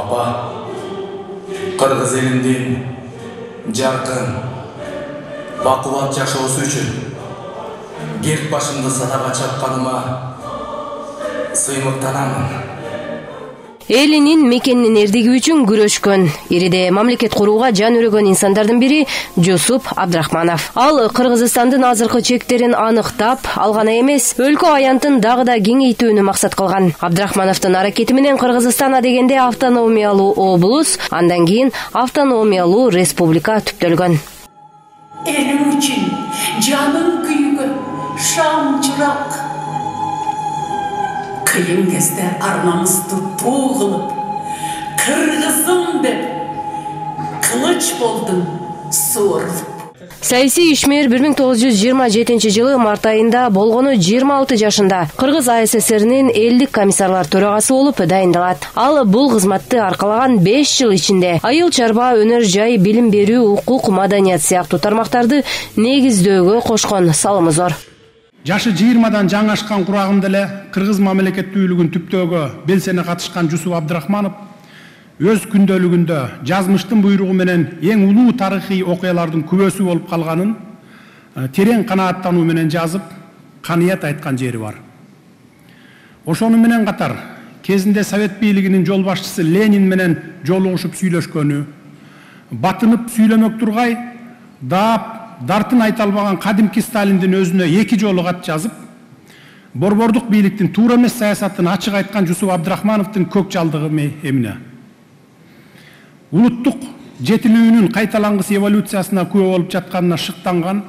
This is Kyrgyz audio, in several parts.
Апа, Кыргыз элинин жаркын, бакубат жашоосу үчүн керт башымды садага чапканыма сыймыктанамын. Элинин мекенинин эрдиги үчүн күрөшкөн, ириде мамлекет курууга жан өрөгөн инсандардын бири Жусуп Абдрахманов. Ал Кыргызстандын азыркы чектерин аныктап, ал гана эмес, өлкө аянтын дагы да кеңейтүүнү максат кылган. Абдрахмановдун аракети менен Кыргызстан адегенде автономиялуу облус, андан кийин автономиялуу республика түптөлгөн. Элим үчүн жаным күйгөн шам чырак. Кыйын кезде арнамызды туу кылып, кыргызым деп кылыч болдум суурулуп. Саясий ишмер 1927 жылы март айында болгону 26 жашында Кыргыз АССРнин элдик комиссарлар төрагасы болуп дайындалат. Ал бул кызматты аркалаган 5 жыл ичинде айыл чарба, өнөр жай, билим берүү, укук, маданият сыяктуу тармактарды негиздөөгө кошкон салымы зор. Жашы 20-дан жаңы ашкан курагында эле кыргыз мамлекеттүүлүгүн түптөөгө белсене катышкан Жусуп Абдрахманов өз күндөлүгүндө жазмыштын буйругу менен эң улуу тарыхый окуялардын күбөсү болуп калганын терең канааттануу менен жазып, каныят айткан жери бар. Ошону менен катар кезинде Совет бийлигинин жол башчысы Ленин менен жолугушуп сүйлөшкөнү, батынып сүйлөмөк тургай даап дартын айта албаган кадимки Сталиндин өзүнө 2 жолу кат жазып, борбордук бийликтин туура эмес саясатын ачык айткан Жусуп Абдрахмановдун көк жалдыгы эмне? Улуттук жетилүүнүн кайталангыс эволюциясына күбө болуп жатканына шыктанган,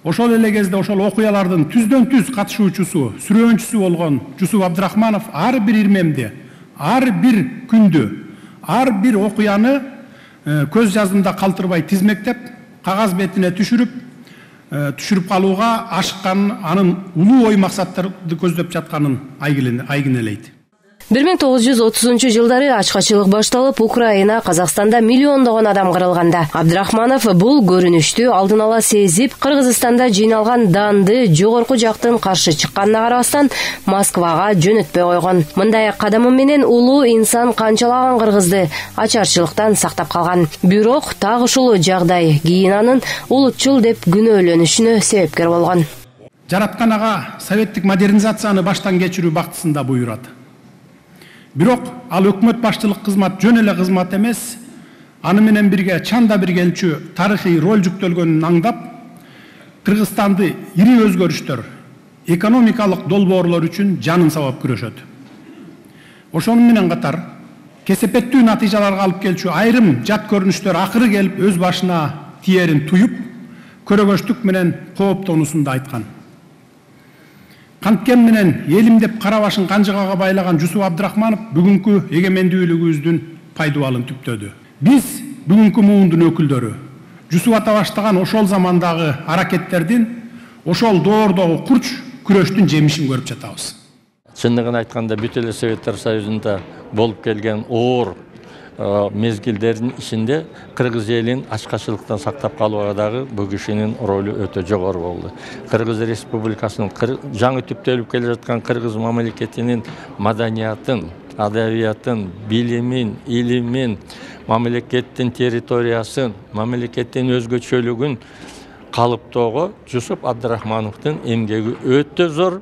ошол эле кезде ошол окуялардын түздөн түз катышуучусу, сүрөөнчүсү болгон Жусуп Абдрахманов ар бир ирмемди, ар бир күндү, ар бир окуяны көз жаздымда калтырбай тизмектеп, кагаз бетине түшүрүп калууга ашыккан, анын улуу ой максаттарды көздөп жатканын айгинелейт. 1930 жылдары ачкачылык башталып, Украина, Казакстанда миллиондогон адам кырылганда, Абдрахманов бул көрүнүштү алдын ала сезип, Кыргызстанда жыйналган данды жогорку жактын каршы чыкканына карабастан Москвага жөнөтпөй койгон. Мындай кадамы менен улуу инсан канчалаган кыргызды ачарчылыктан сактап калган. Бирок так ушул жагдай кийин анын улутчул деп күнөөлөнүшүнө себепкер болгон. Жараткан ага советтик модернизацияны баштан кечирүү бактысында буйрат. Бирок ал өкмөт башчылык кызмат жөн эле кызмат эмес, аны менен бирге чанда биргелчү тарыхый роль жүктөлгөнүн аңдап, Кыргызстанды ири өзгөрүштөр, экономикалык долбоорлор үчүн жанын сабап күрөшөт. Ошону менен катар кесепеттүү натыйжаларга алып келчү айрым жат көрүнүштөр акыры келип өз башына тиерин туюп, көрөгөчтүк менен кооптонуусун да айткан. Канткен менен элим деп кара башын канжыгага байлаган Жусуп Абдрахманов бүгүнкү эгемендүүлүгүбүздүн пайдубалын түптөдү. Биз бүгүнкү муундун өкүлдөрү Жусуп ата баштаган ошол замандагы аракеттердин, ошол доордогу курч күрөштүн жемишин көрүп жатабыз. Чындыгын айтканда бүт эле Советтер Союзунда болуп келген оор мезгилдердин ичинде кыргыз элин ачкачылыктан сактап калууга дагы бул кишинин ролу өтө жогору болду. Кыргыз Республикасынын жаңы түптөлүп келе жаткан кыргыз мамлекетинин маданиятын, адабиятын, билимин, илимин, мамлекеттин территориясын, мамлекеттин өзгөчөлүгүн калыптоого Жусуп Абдрахмановдун эмгеги өтө зор.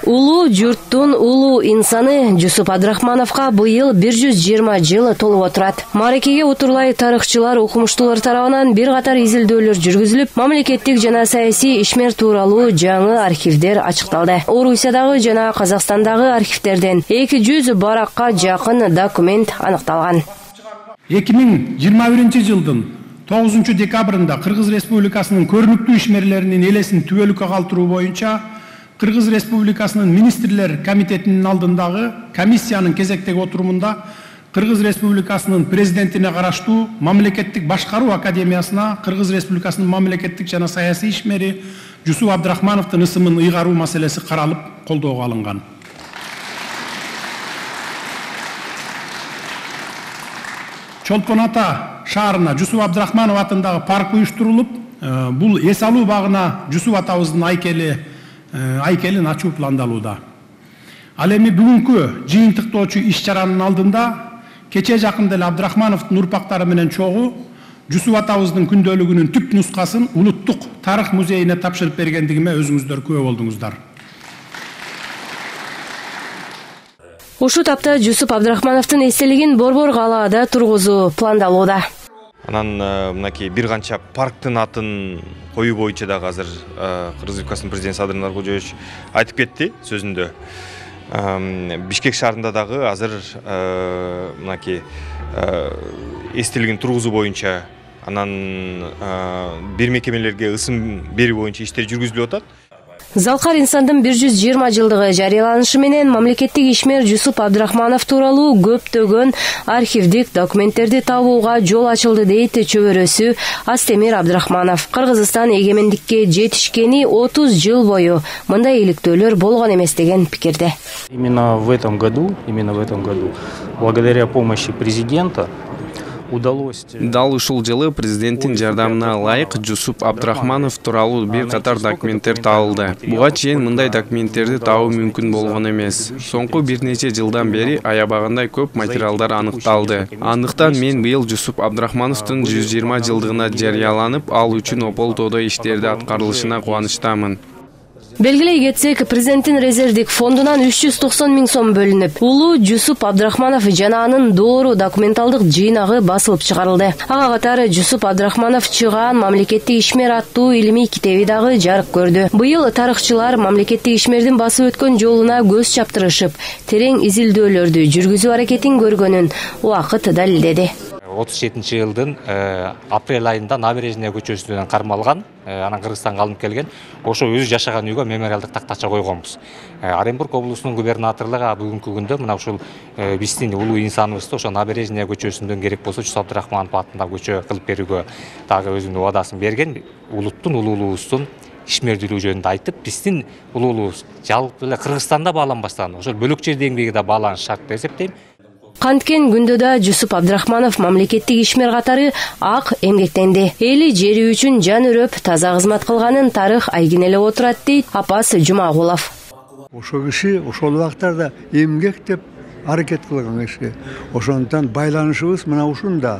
Улуу журттун улуу инсаны Жусуп Абдрахмановго быйыл 120 жыл толуп отурат. Мааракеге утурлай тарыхчылар, окумуштуулар тарабынан бир катар изилдөөлөр жүргүзүлүп, мамлекеттик жана саясий ишмер тууралуу жаңы архивдер ачыкталды. Орусиядагы жана Казакстандагы архивдерден 200 баракка жакын документ аныкталган. 2021 жылдын 9 декабрында Кыргыз Республикасынын көрүнүктүү ишмерлеринин элесин түбөлүккө калтыруу боюнча Кыргыз Республикасынын министрлер комитетинин алдындагы комиссиянын кезектеги отурумунда Кыргыз Республикасынын президентине караштуу Мамлекеттик башкаруу академиясына Кыргыз Республикасынын мамлекеттик жана саясий ишмери Жусуп Абдрахмановдун ысымын ыйгаруу маселеси каралып, колдоого алынган. Чолпон Ата шаарына Жусуп Абдрахманов атындагы парк уюштурулуп, бул эс алуу багына Жусуп атабыздын айкелин ачуу пландалууда. Ал эми бүгүнкү жыйынтыктоочу иш чаранын алдында кече жакында эле Абдрахмановдун урпактары менен чогуу Жусуп атабыздын күндөлүгүнүн түп нускасын улуттук тарых музейине тапшырып бергендигиме өзүңүздөр күбө болдуңуздар. Ушул тапта Жусуп Абдрахмановдун эстелигин Борбор калаада тургузуу пландалууда. Анан мынакей бир канча парктын атын коюу боюнча дагы азыр Кыргыз Республикасынын президенти Садыр Наркожоевич айтып кетти сөзүндө. Бишкек шаарында дагы азыр мынакей эстелигин тургузуу боюнча анан бир мекемелерге ысым берүү боюнча иштер жүргүзүлүп атат. Залкар инсандын 120 жылдыгы жарыяланышы менен мамлекеттик ишмер Жусуп Абдрахманов тууралуу көптөгөн архивдик документтерди табууга жол ачылды дейт чөбөрөсү Астемир Абдрахманов. Кыргызстан эгемендикке жетишкени 30 жыл бою мындай иликтөөлөр болгон эмес деген пикирде. Именно в этом году, благодаря помощи президента, дал ушул жылы президенттин жардамына ылайык Жусуп Абдрахманов тууралуу бир катар документтер табылды. Буга чейин мындай документтерди табуу мүмкүн болгон эмес. Соңку бир нече жылдан бери аябагандай көп материалдар аныкталды. Андыктан мен быйыл Жусуп Абдрахмановдун 120 жылдыгына жарыяланып, ал үчүн Ополтодо иштерди аткарылышына кубанычтамын. Белгилей кетсек, президенттин резервдик фондунан 390 000 сом бөлүнүп, улуу Жусуп Абдрахманов жана анын доору документалдык жыйнагы басылып чыгарылды. Ага катары Жусуп Абдрахманов чыгаан мамлекеттик ишмер аттуу илимий китеби дагы жарык көрдү. Быйыл тарыхчылар мамлекеттик ишмердин басып өткөн жолуна көз чаптырышып, терең изилдөөлөрдү жүргүзүү аракетин көргөнүн убакыт далилдеди. 37-жылдын апрель айында Набережная көчөсүнөн кармалган, анан Кыргызстанга алынып келген, ошо өзү жашаган үйгө мемориалдык тактача койгонбуз. Оренбург облусунун губернаторлугу бүгүнкү күндө мына ушул биздин улуу инсаныбызды ошо Набережная көчөсүндөн керек болсо Жусуп Абдрахманов атындагы көчө кылып берүүгө дагы өзүнүн убадасын берген. Улуттун улуулуубуздун ишмердүүлүгү жөнүндө айтып, биздин улуулуубуз жалпы эле Кыргызстанда бааланбастан ошол бөлөк жер деңгээлиги да бааланыш шарт деп эсептейм. Канткен күндө Жусуп Абдрахманов мамлекеттик ишмер катары ак эмгектенди. Эли жери үчүн жан өрөп таза кызмат кылганын тарых айгинелеп отурат дейт Апас Жумагулов. Ошо киши ошол убактарда эмгектеп аракет кылган киши. Ошондон байланышыбыз мына ушунда.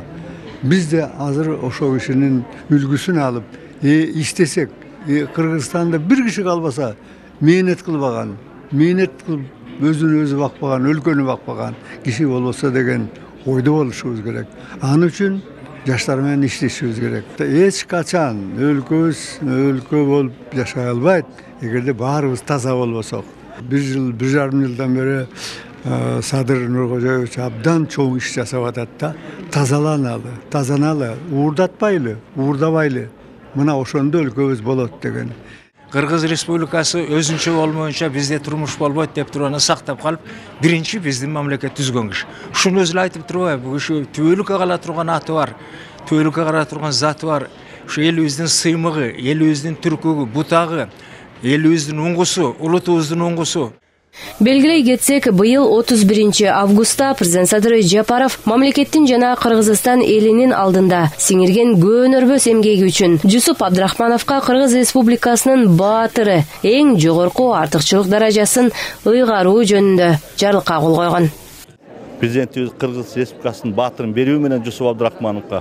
Биз да азыр ошол кишинин үлгүсүн алып, иштесек, Кыргызстанда бир киши калбаса, мээнет кылбаган, мээнет кылып өзүн өзү бакпаган, өлкөнү бакпаган киши болбосо деген ойдо болушубуз керек. Аны үчүн жаштар менен иштешибиз керек. Эч качан өлкө болуп жашай албайт, эгерде баарыбыз таза болбосок. 1,5 жылдан бери Садыр Нуркожоевич абдан чоң иш жасап атат да. Тазаналы, уурдатпайлы, уурдабайлы. Мына ошондо өлкөбүз болот деген. Кыргыз Республикасы өзүнчө болмоюнча бизде турмуш болбойт деп турганы сактап калып, биринчи биздин мамлекет түзгөн киши. Ушуну өзү айтып турбайбы? Бул киши түбөлүккө кала турган аты бар, түбөлүккө кала турган заты бар. Ушу элибиздин сыймыгы, элибиздин түркүгү, бутагы, элибиздин уңгусу, улутубуздун уңгусу. Белгилей кетсек, быйыл 31 августта президент Садыр Жапаров мамлекеттин жана Кыргызстан элинин алдында сиңирген көөнөрбөс эмгеги үчүн Жусуп Абдрахмановго Кыргыз Республикасынын баатыры эң жогорку артыкчылык даражасын ыйгаруу жөнүндө жарлыкка кол койгон. Президентибиз Кыргыз Республикасынын баатырын берүү менен Жусуп Абдрахмановго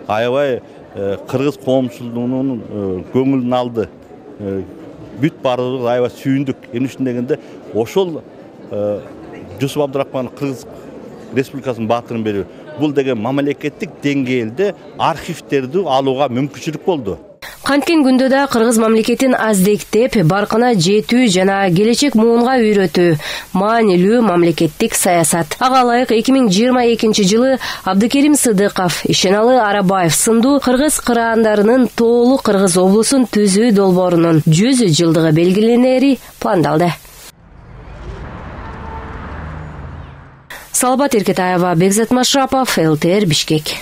аябай кыргыз коомчулугунун көңүлүн алды. Бүт баарыбыз аябай сүйүндүк. Эмне үчүн дегенде, ошол Жусуп Абдрахманов Кыргыз Республикасынын баатырын берүү. Бул деген мамлекеттик деңгээлде архивтерди алууга мүмкүнчүлүк болду. Канткен күндө Кыргыз мамлекетин аздектеп, баркына жетүү жана келечек муунга үйрөтүү маанилүү мамлекеттик саясат. Ага ылайык 2022 жылы Абдыкерим Сыдыков, Ишеналы Арабаев сындуу кыргыз кыраандарынын тоолуу Кыргыз облусун түзүү долбоорунун 100 жылдыгы белгиленери пландалды. Салбат Эркетаева, Бекзат Машрапов, ЛТР Бишкек.